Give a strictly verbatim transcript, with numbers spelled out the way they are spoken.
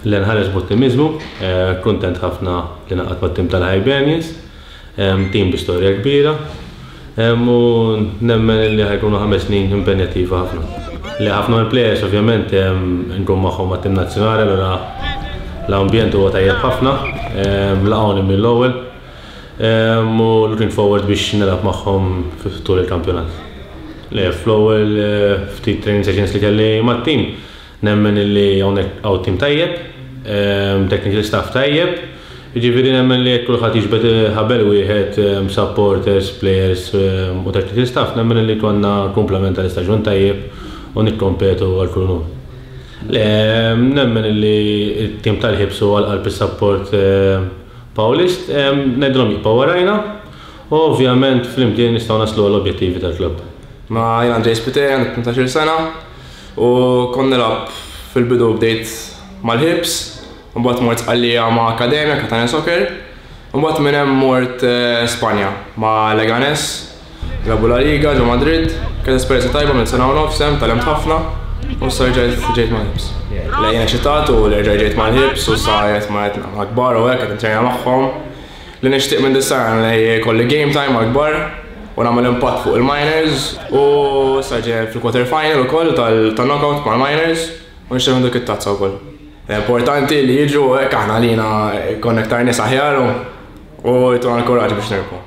Li nħares b'ottimizmu, kuntent ħafna li ngħaqadt mat-tim tal-Hibernians, tim bi storja kbira, u nemmen li ħa jkunu ħames snin impenjattiva ħafna. Li ħafna mill-players ovvjament nkun magħhom mat-tim nazzjonali, allura l-ambjent huwa tajjeb ħafna, laqgħuni mill-ewwel, u looking forward biex nilgħab magħhom tul il-kampjonat. Le, fl-ewwel ftit training sessions li kelli mat-tim, nemmen li hawnhekk hawn tim tajjeb, technical staff tajjeb, jiġifieri nemmen li jekk kulħadd jiġbed ħabel wieħed, supporters, players u technical staff, nemmen li konna komplement tal-istaġun tajjeb u nikkompetu għal kull unur. Le, nemmen li t-tim tal-Hibs u għal qalb is-support Paulist, ngħidilhom jibqgħu warajna u ovvjament flimkien nistgħu naslu għall-objettivi tal-klabb. Ma jien Andrej Spiteri, għandi tmintax-il sena u kont nilgħab fil-bidu bdejt mal-Hibs, mbagħad mort Sqallija ma' Akkademja, Catania Soccer, mbagħad minn hemm mort Spanja ma' Leganes, nilagħbu La Liga ġo Madrid, kienet esperjenza tajba minn sena u nofs hemm tgħallimt ħafna u issa rġajt ġejt mal-Hibs. Le jien eċitat u li rġajt ġejt mal-Hibs u sa qiegħed ma' kbar u hekk qed nittrejna magħhom. Li nixtieq minn dis-sena li jkolli game time mal-kbar u nagħmel impatt fuq il-minors u issa ġej fil-quarter final ukoll tal-knockout mal-minors u nixtieq dik it-tazza wkoll. Importanti li jiġu hekk aħna lina jkollna iktar nies aħjar u jtuna l-kuraġġ biex nirbħu.